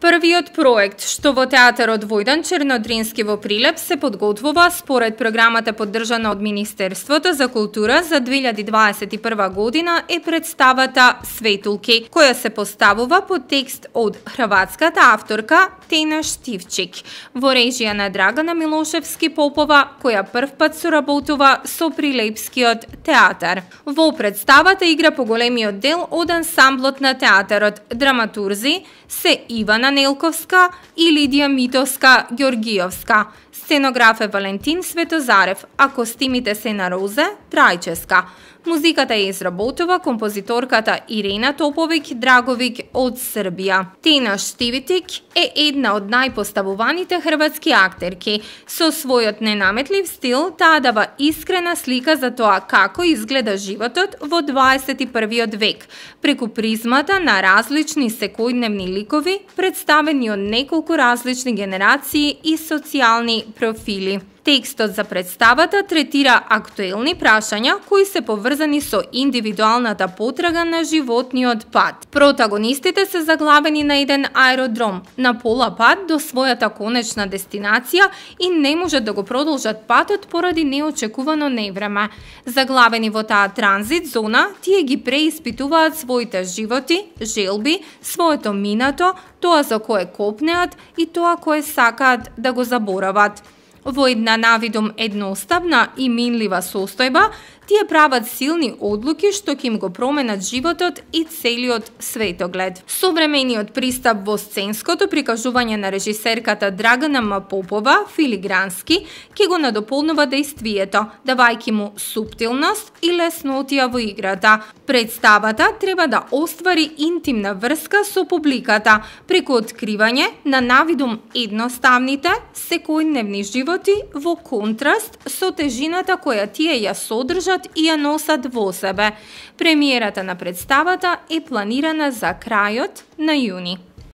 Првиот проект што во театарот Војдан Чернодрински во Прилеп се подготвува според програмата поддржана од Министерството за култура за 2021 година е представата Светулки, која се поставува по текст од хрватската авторка Тена Штивчик во режија на Драгана Милошевски Попова, која првпат соработува со Прилепскиот театар. Во представата игра поголемиот дел од ансамблот на театарот. Драматурзи се Ивана Нелковска и Лидија Митовска Ѓоргиовска. Сценограф е Валентин Светозарев, а костимите се на Розе Трајческа. Музиката ја изработува композиторката Ирена Топовиќ Драговиќ од Србија. Тена Штивчик е една од најпоставуваните хрватски актерки. Со својот ненаметлив стил, таа дава искрена слика за тоа како изгледа животот во 21 век, преку призмата на различни секојдневни ликови, представени од неколку различни генерации и социјални профили. Текстот за представата третира актуелни прашања кои се поврзани со индивидуалната потрага на животниот пат. Протагонистите се заглавени на еден аеродром, на пола пат до својата конечна дестинација и не можат да го продолжат патот поради неочекувано невреме. Заглавени во таа транзит зона, тие ги преиспитуваат своите животи, желби, своето минато, тоа за кое копнеат и тоа кое сакаат да го заборават. Во една навидум едноставна и минлива состојба, тие прават силни одлуки што ќе им го променат животот и целиот светоглед. Современиот пристап во сценското прикажување на режисерката Драгана М. Попова, филигрански, ќе го надополнува дејствието, давајќи му суптилност и леснотија во играта. Представата треба да оствари интимна врска со публиката, преку откривање на навидум едноставните, секојдневни животи во контраст со тежината која тие ја содржат и ја носат во себе. Премиерата на представата е планирана за крајот на јуни.